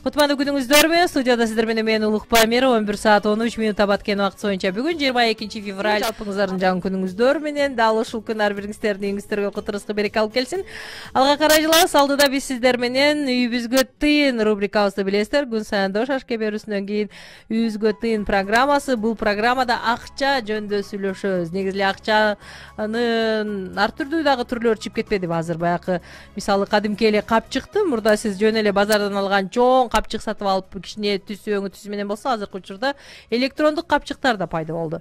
Кутмандуу күнүңүздөрбү? Студияда сиздер менен мен Улукбай Мээров 11:13 баткен убакыт боюнча бүгүн 22 февраль. Жалпыңыздардын жаңы күнүңүздөр менен дал ушул күн ар бириңиздердин үйүңүздөргө кутурузга береке алып келсин. Алга карай жылабыз. Алдыда биз сиздер менен үйүбүзгө тыйын рубрикабызды билесиздер. Күн сайын дош ашке берүүсүнөн кийин үйүбүзгө тыйын программасы. Бул программада акча жөнүндө сүйлөшөбүз. Негизи эле акчанын ар түрдүү дагы түрлөрү чыгып кетпедиби азыр? Баягы мисалы кадимки эле капчыкты мурда сиз жөн эле базардан алган чоң капчык сатып алып кичине түсү өңү түсү менен болсо, азыркы учурда электрондук капчыктар да пайда болду.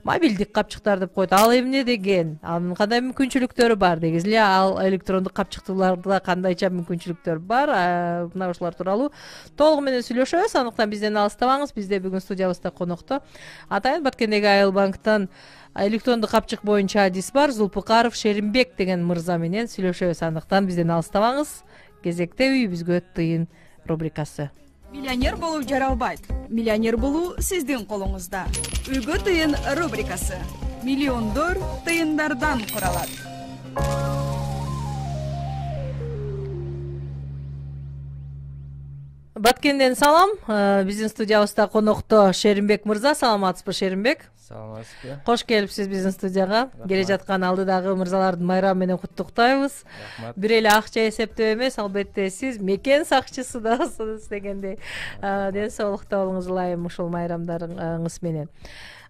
Мобилдик капчыктар деп коет. Ал эмне деген? Анын кандай мүмкүнчүлүктөрү бар? Негизи эле ал электрондук капчыктууларда кандайча мүмкүнчүлүктөр бар? Мына ушулар тууралуу толугу менен сүйлөшөбүз. Андыктан бизден алыстабаңыз. Бизде бүгүн студиябызда конокто атайын Баткендеги Айыл банктан электрондук капчык боюнча адис бар Зулпукаров Шеримбек деген мырза менен сүйлөшөбүз. Андыктан бизден алыстабаңыз. Кезекте үйүбүзгө тыйын рубрикасы. Миллионер болуу жаралбайт. Миллионер болуу сиздин колуңузда. Үйгө тыйын рубрикасы. Миллиондор тыйындардан куралат. Баткенден салам. Биздин студиябызда конокто Шеримбек мырза. Саламатсызбы, Шеримбек? Саламатсызбы. Кош келипсиз биздин студияга. Келе жаткан алдыдагы мырзалардын майрамы менен куттуктайбыз. Бир эле акча эсептөө эмес, албетте сиз мекен сакчысы дагысыз дегендей. Ден соолукта болуңузду ылайым ушул майрамдарыңыз менен.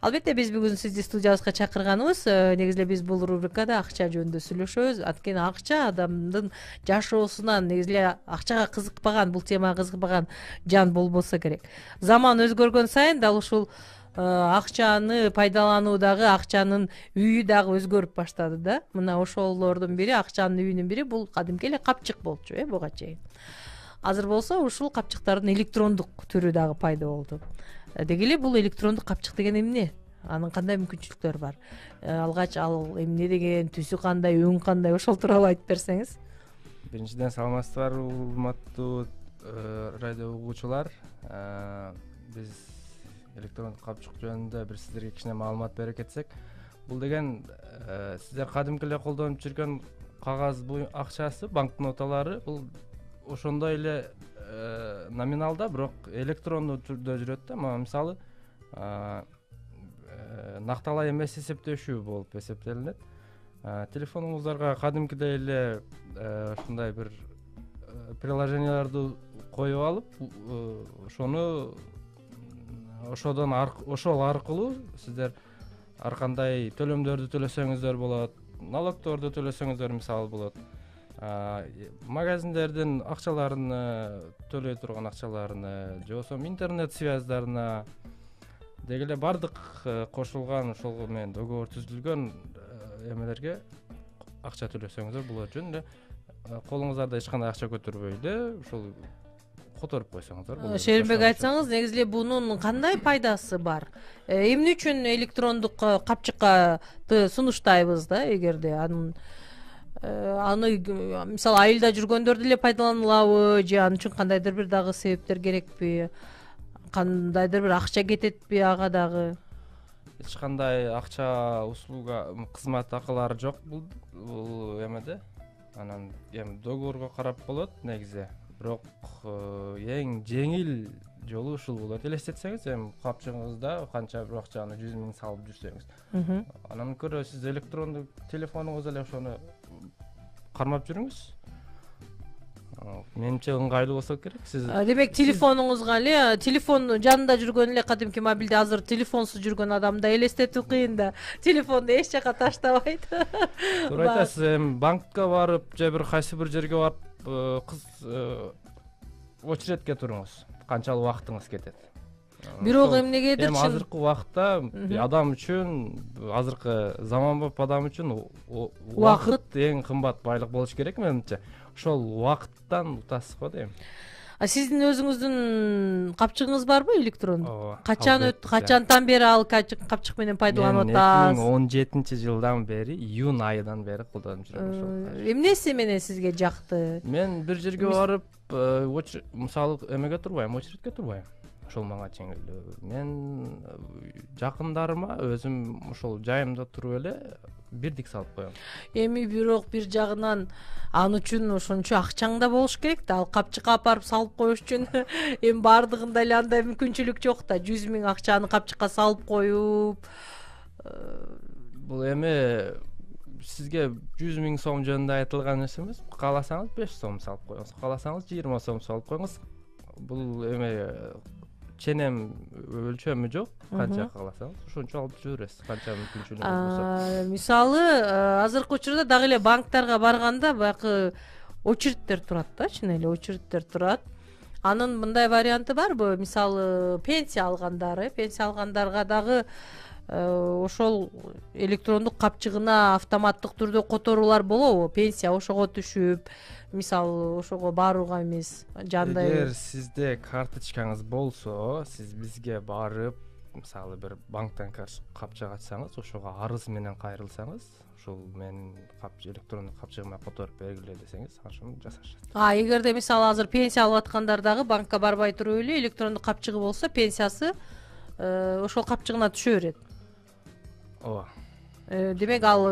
Албетте биз бүгүн сизди студиябызга чакырганыбыз, негизи эле биз бул рубрикада акча жөнүндө сүйлөшөбүз. Анткени акча адамдын жашоосунан, негизи эле акчага кызыкпаган, бул темага кызыкпаган жан болбосо керек. Заман өзгөргөн сайын дал ушул акчаны пайдалануу дагы, акчанын үйү дагы өзгөрүп баштады да. Мына ошолордун бири, акчанын үйүнүн бири бул кадимки эле капчык болчу, буга чейин. Азыр болсо ушул капчыктардын электрондук түрү дагы пайда болду. Деги эле бул электрондук капчык деген эмне? Анын кандай мүмкүнчүлүктөрү бар? Алгач ал эмне деген, түсү кандай, өң кандай, ошол тууралуу айтып берсеңиз. Биринчиден саламатсыздарбы, урматтуу радио угуучулар. Биз электрондук капчык жөнүндө бир сиздерге кичине маалымат бере кетсек, бул деген сиздер кадимки эле колдонуп жүргөн кагаз акчасы, банкноталары, бул ошондой эле номиналда, бирок электрондуу түрдө жүрөт да. Мисалы накталай эмес эсептешүү болуп эсептелинет. Телефонуңуздарга кадимкидей эле ушундай бир приложенияларды коюп алып, ошол аркылуу сиздер ар кандай төлөмдөрдү төлөсөңүздөр болот, налогторду төлөсөңүздөр мисалы болот. Магазиндердин акчаларыны, төлөй турган акчаларыны, же болбосо интернет связьдарына, деги эле бардык кошулган ошол менен договор түзүлгөн эмелерге акча төлөсөңүздөр болот. Жөн эле колуңуздарда эч кандай акча көтөрбөй эле ушул которуп койсоңуздар болот. Шеримбек, айтсаңыз, негизи эле бунун кандай пайдасы бар? Эмне үчүн электрондук капчыкка сунуштайбыз да, эгерде аны мисалы айылда жүргөндөр деле пайдаланылабы, же ал үчүн кандайдыр бир дагы себептер керекпи? Кандайдыр бир акча кететпи ага дагы? Эч кандай акча, услуга, кызмат акылары жок бул эмеде. Анан эми договорго карап болот негизи. Бирок эң жеңил жолу ушул болот. Элестетсеңиз, эми капчыгыңызда канча бир акчаны 100 миң салып жүрсөңүз, анан көрө сиз электрондук телефонуңузда эле ошону кармап жүрүңүз. Менимче ыңгайлуу болсо керек. Сиз демек телефонуңузга эле, телефон жанында жүргөн эле кадимки мобилде, азыр телефонсуз жүргөн адамда элестетүү кыйын да. Телефонду эч жака таштабайт. Туура айтасыз. Эми банкка барып, же бир кайсы бир жерге барып, очередке туруңуз. Канчалык убактыңыз кетет. Бирок эмнегедир эми азыркы убакта адам үчүн, азыркы заманбап адам үчүн убакыт эң кымбат байлык болуш керек менимче. Ошол убакыттан утасыз го дейм. Сиздин өзүңүздүн капчыгыңыз барбы электрондук? Качантан бери ал капчык менен пайдаланып атасыз? 2017-жылдан бери, июнь айынан бери колдонуп жүрөм ошол. Эмнеси менен сизге жакты? Мен бир жерге барып, мисалы эмеге турбайм, очередке турбайм. ошол мага жеңил. Мен жакындарыма өзүм ошол жайымда туруп эле бирдик салып коем. Эми бирок бир жагынан ал үчүн ошончо акчаң да болуш керек да, ал капчыкка апарып салып коюш үчүн эми баардыгында эле андай мүмкүнчүлүк жок да. 100 000 акчаны капчыкка салып коюп. Бул эми сизге 100 000 сом жөнүндө айтылган нерсе эмес. Кааласаңыз 5 сом салып коюңуз, кааласаңыз 20 сом салып коюңуз. Бул эми ченем өлчөмү жок. Канча кааласаңыз ошончо алып жүрө бересиз, канча мүмкүнчүлүгүңүз болсо. Мисалы, азыркы учурда дагы эле банктарга барганда баягы очередтер турат да, чын эле очередтер турат. Анын мындай варианты барбы? Мисалы, пенсия алгандарга дагы ошол электрондук капчыгына автоматтык түрдө которуулар болобу? Пенсия ошого түшүп, мисалы, ошого барууга эмес, жандай. Эгер сизде карточкаңыз болсо, сиз бизге барып, мисалы, бир банктан капчык ачсаңыз, ошого арыз менен кайрылсаңыз, ошол менин электрондук капчыгыма которуп бергиле десеңиз, ошону жасашат. Эгерде мисалы азыр пенсия алып аткандар дагы банкка барбай туруп эле электрондук капчыгы болсо, пенсиясы ошол капчыгына түшө берет. Ооба. Демек ал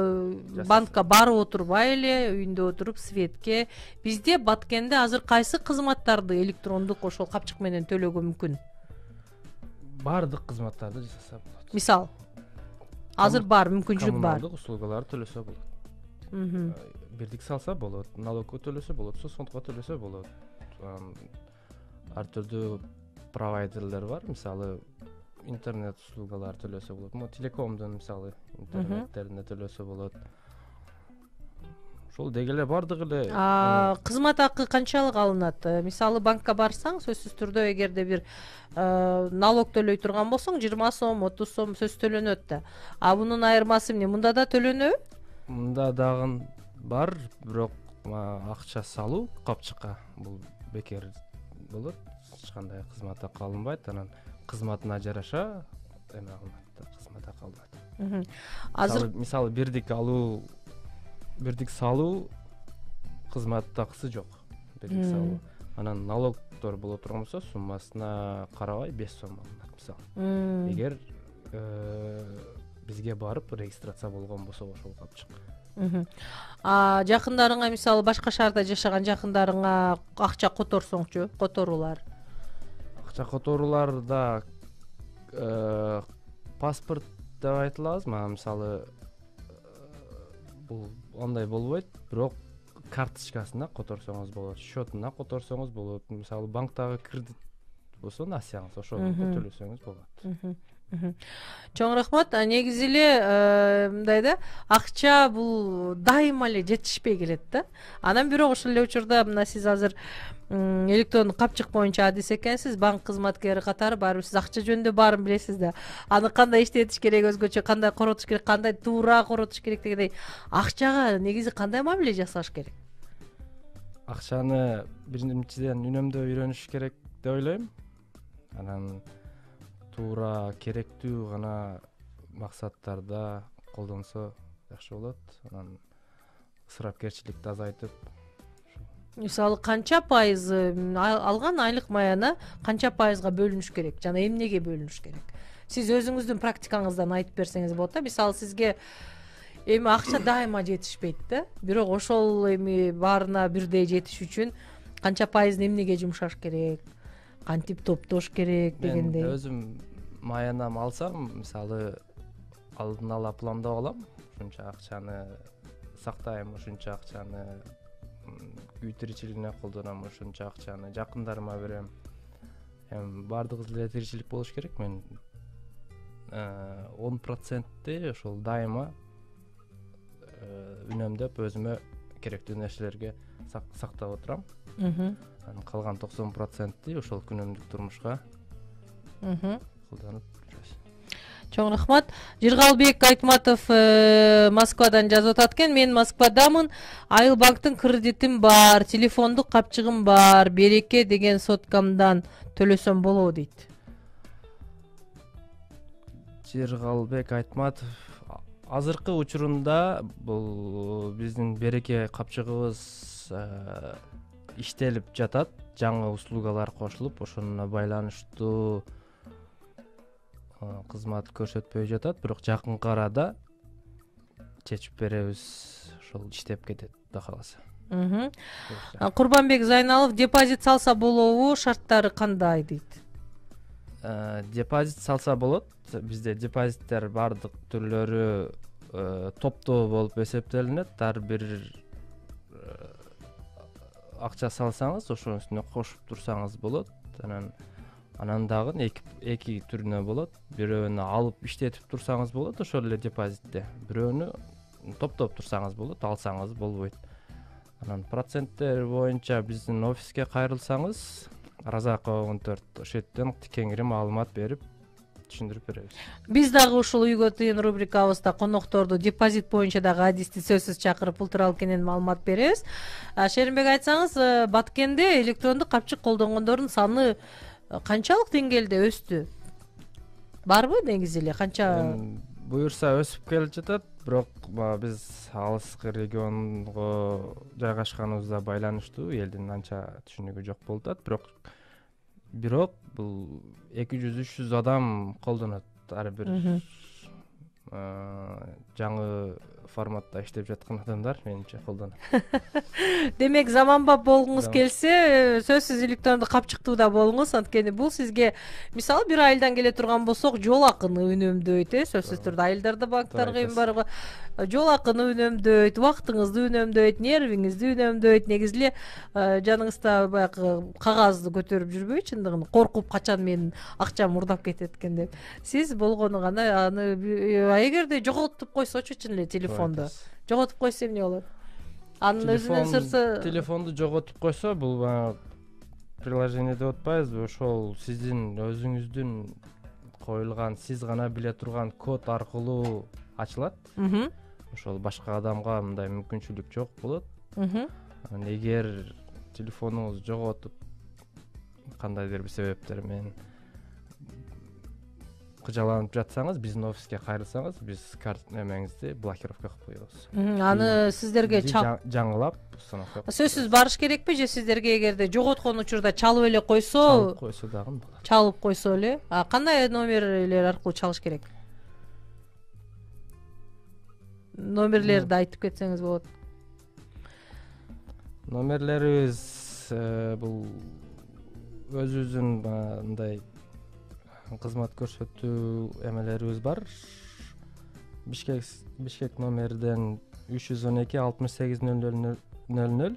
банкка барып отурбай эле үйүндө отуруп светке. Бизде Баткенде азыр кайсы кызматтарды электрондук ошол капчык менен төлөөгө мүмкүн? Бардык кызматтарды жасаса болот. Мисал, азыр бар мүмкүнчүлүк бар. Коммуналдык услугаларды төлөсө болот. Бирдик салса болот, налогко төлөсө болот, соцфондко төлөсө болот. Ар түрдүү провайдерлер бар, мисалы интернет услугалары төлөсө болот. Телекомдун мисалы интернеттерине төлөсө болот. Ошол деги эле бардык эле. Кызмат акы канчалык алынат? Мисалы, банкка барсаң, сөзсүз түрдө эгерде бир налог төлөй турган болсоң, 20 сом, 30 сом сөз төлөнөт да. Бунун айырмасы эмне? Мында да төлөнөбү? Мында дагы бар, бирок акча салуу капчыкка бул бекер болот. Эч кандай кызмат акы алынбайт. Анан кызматына жараша эме алынат, кызмат акы алынат. Азыр мисалы бирдик салуу кызмат акысы жок. Бирдик салуу. Анан налогдор боло турган болсо, суммасына карабай 5 сом алынат, мисалы. Эгер бизге барып регистрация болгон болсо ошол капчык. Жакындарыңа, мисалы, башка шаарда жашаган жакындарыңа акча которсоңчу, которуулар. Акча которууларда паспорт деп айтылабызбы, мисалы, бул андай болбойт, бирок карточкасына которсоңуз болот, счетуна которсоңуз болот. Мисалы, банктагы кредит болсо, насыяңыз ошону төлөсөңүз болот. Чоң рахмат. Негизи эле мындай да, акча бул дайыма эле жетишпей келет да. Анан бирок ошол эле учурда мына сиз азыр электрондук капчык боюнча адис экенсиз, банк кызматкери катары барып сиз акча жөнүндө баарын билесиз да. Аны кандай иштетиш керек, өзгөчө кандай коротуш керек, кандай туура коротуш керек дегендей. Акчага негизи кандай мамиле жасаш керек? Акчаны биринчиден үнөмдөө үйрөнүш керек деп ойлойм. Анан туура, керектүү гана максаттарда колдонсо жакшы болот. Анан ысырапкерчиликти азайтып, мисалы, канча пайыз алган айлык маяна канча пайызга бөлүнүш керек жана эмнеге бөлүнүш керек? Сиз өзүңүздүн практикаңыздан айтып берсеңиз болот да. Мисалы, сизге эми акча дайыма жетишпейт да, бирок ошол эми баарына бирдей жетиш үчүн канча пайызын эмнеге жумшаш керек, кантип топтош керек дегендей. Мен өзүм маянам алсам, мисалы, алдын ала пландап алам, ушунча акчаны сактайм, ушунча акчаны үй тиричилигине колдоном, ушунча акчаны жакындарыма берем. Эми бардыгыбыз эле тиричилик болуш керек. Мен 10%-ти ошол дайыма үнөмдөп өзүмө керектүү нерселерге сактап отурам. Анан калган 90%-ти ошол күнүмдүк турмушка колдонуп жүрөбүз. Чоң рахмат. Жыргалбек Айтматов Москвадан жазып атат экен. Мен Москвадамын. Айыл банктын кредитим бар, телефондук капчыгым бар. Береке деген соткамдан төлөсөм болобу дейт. Жыргалбек Айтматов, азыркы учурунда бул биздин береке капчыгыбыз иштелип жатат, жаңы услугалар кошулуп ошоно байланыштуу кызмат көрсөтпөй жатат, бирок жакынкы арада чечип беребиз, ошол иштеп кетет Кудай кааласа. Курбанбек Зайналов депозит салса болобу, шарттары кандай дейт? Депозит салса болот. Бизде депозиттер бардык түрлөрү топтоо болуп эсептелинет. Ар бир акча салсаңыз ошонун үстүнө кошуп турсаңыз болот. Анан дагы эки түрүнө болот. Бирөөнү алып иштетип турсаңыз болот, ошол эле депозитте. Бирөөнү топтоп турсаңыз болот, алсаңыз болбойт. Анан проценттер боюнча биздин офиске кайрылсаңыз, Разакова 14, ошол жерден кеңири маалымат берип түшүндүрүп беребиз. Биз дагы ушул Үйгө тыйын рубрикабызда конокторду депозит боюнча дагы адисти сөзсүз чакырып бул тууралуу кенен маалымат беребиз. Шеримбек, айтсаңыз, Баткенде электрондук капчык колдонгондордун саны канчалык деңгээлде өстү? Барбы негизи эле канча? Буюрса өсүп келе жатат, бирок биз алыскы регионго жайгашканыбызга байланыштуу элдин анча түшүнүгү жок болуп атат, бирок бул 200-300 адам колдонот. Ар бир жаңы форматта иштеп жаткан адамдар менимче колдонот. Демек, заманбап болгуңуз келсе, сөзсүз электрондук капчыктууда болуңуз. Анткени бул сизге, мисалы, бир айылдан келе турган болсок, жол акыны үнөмдөйт, сөзсүз түрдө. Айылдарда банктар кыйын барга, жол акыны үнөмдөйт, убактыңызды үнөмдөйт, нервиңизди үнөмдөйт. Негизи эле жаныңызда баягы кагазды көтөрүп жүрбөй, чындыгын коркуп, качан менин акчам урдап кетет экен деп. Сиз болгону гана аны эгерде жоготуп койсочу, чын эле телефонду жоготуп койсо эмне болот? Анын өзүнөн сырсы телефонду жоготуп койсо, бул приложение деп атпайбызбы, ошол сиздин өзүңүздүн коюлган, сиз гана биле турган код аркылуу ачылат. Ошол башка адамга мындай мүмкүнчүлүк жок болот. Эгер телефонуңуз жоготуп кандайдыр бир себептер менен кыжаланып жатсаңыз, биздин офиске кайрылсаңыз, биз эмеңизди блокировка кылып коебуз. Аны сиздерге жаңылап сөзсүз барыш керекпи же сиздерге эгерде жоготкон учурда чалып эле койсо? Чалып койсо дагы болот. Чалып койсо эле. Кандай номерлер аркылуу чалыш керек? Номерлерди айтып кетсеңиз болот. Номерлерибиз бул өзүбүздүн мындай кызмат көрсөтүү эмелерибиз бар. Бишкек номерден 312 68 0000,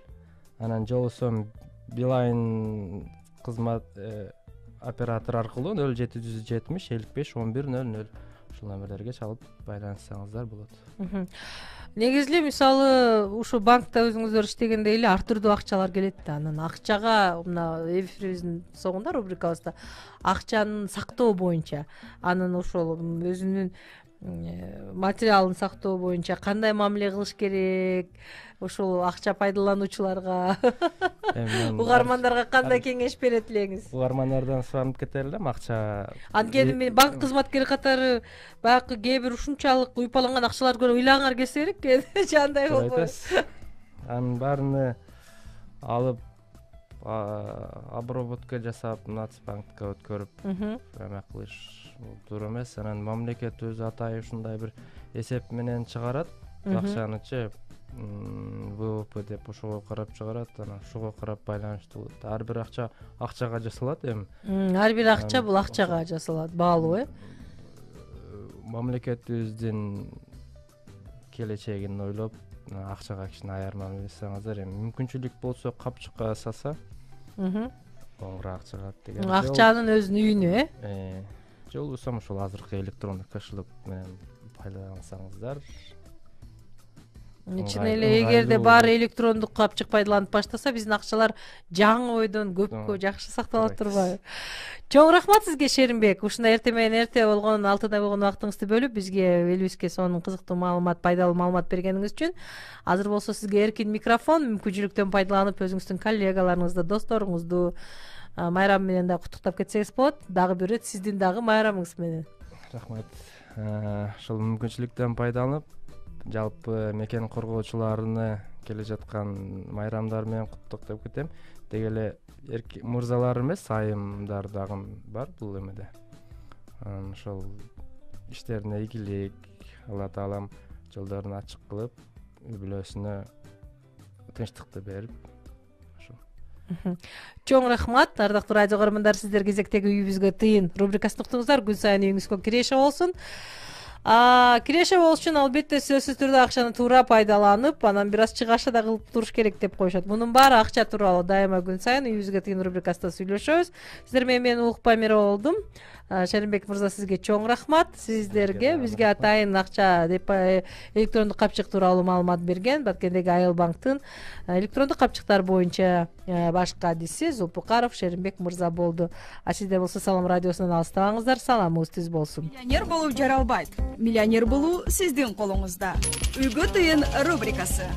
анан жолсо Билайн кызмат оператор аркылуу 0770 55 11 00 ушул номерлерге чалып байланыссаңыздар болот. Негизи эле, мисалы, ушу банкта өзүңүздөр иштегенде эле ар түрдүү акчалар келет да. Анан акчага мына эфирибиздин соңунда рубрикабызда акчанын сактоо боюнча, анын ошол өзүнүн материалын сактоо боюнча кандай мамиле кылыш керек, ошол акча пайдалануучуларга, угармандарга кандай кеңеш берет элеңиз? Угармандардан суранып кетер элем, акча. Анткени мен банк кызматкери катары баягы кээ бир ушунчалык уйпаланган акчаларды көрүп ыйлаңар келсе керек, жандай болбойбу? Анын баарыны алып обработка жасап, Нацбанкка өткөрүп эме кылыш туура эмес. Анан мамлекет өзү атайын ушундай бир эсеп менен чыгарат. Акчанычы ВВП деп ошого карап чыгарат, анан ошого карап байланыштуу болот. Ар бир акча акчага жасалат эми. Ар бир акча бул акчага жасалат, баалуу, Мамлекетибиздин келечегин ойлоп, акчага кичине аяр мамиле жасаңыздар. Эми мүмкүнчүлүк болсо капчыкка саса, оңураак чыгат деген. Акчанын өзүнүн үйүнө, же болбосо ошол азыркы электрондук кошелек менен пайдалансаңыздар. Чын эле эгерде баары электрондук капчык пайдаланып баштаса, биздин акчалар жаңы ойдон көпкө жакшы сакталат турбайбы? Чоң рахмат сизге, Шеримбек. Ушундай эрте менен эрте болгон, алтыда болгон убактыңызды бөлүп, бизге, элибизге сонун кызыктуу маалымат, пайдалуу маалымат бергениңиз үчүн. Азыр болсо сизге эркин микрофон, мүмкүнчүлүктөн пайдаланып өзүңүздүн коллегаларыңызды, досторуңузду майрам менен да куттуктап кетсеңиз болот. Дагы бир ирет сиздин дагы майрамыңыз менен. Рахмат. Ошол мүмкүнчүлүктөн пайдаланып, жалпы мекен коргоочуларыны келе жаткан майрамдар менен куттуктап кетем. Деги эле мырзалар эмес, айымдар дагы бар бул эмеде. Ошол иштерине ийгилик, Алла Таалам жолдорун ачык кылып, үй бүлөсүнө тынчтыкты берип, ошо. Чоң рахмат, ардактуу радио көрөрмандар, сиздер кезектеги үйүбүзгө тыйын рубрикасын уктуңуздар. Күн сайын үйүңүзгө киреше болсун. Киреше болуш үчүн албетте сөзсүз түрдө акчаны туура пайдаланып, анан бир аз чыгаша да кылып туруш керек деп коюшат. Мунун баары акча тууралуу дайыма күн сайын үйүбүзгө тыйын рубрикасында сүйлөшөбүз. Сиздер менен мен Улукбай Мерова болдум. Шеримбек мырза, сизге чоң рахмат. Сиздерге бизге атайын акча деп электрондук капчык тууралуу маалымат берген Баткендеги Айыл банктын электрондук капчыктар боюнча баш кадиси Зулпукаров Шеримбек мырза болду. Сиздер болсо Салам радиосунан алыстабаңыздар. Саламыңыз түз болсун. Миллионер болуу жаралбайт. Миллионер болуу сиздин колуңузда. Үйгө тыйын рубрикасы.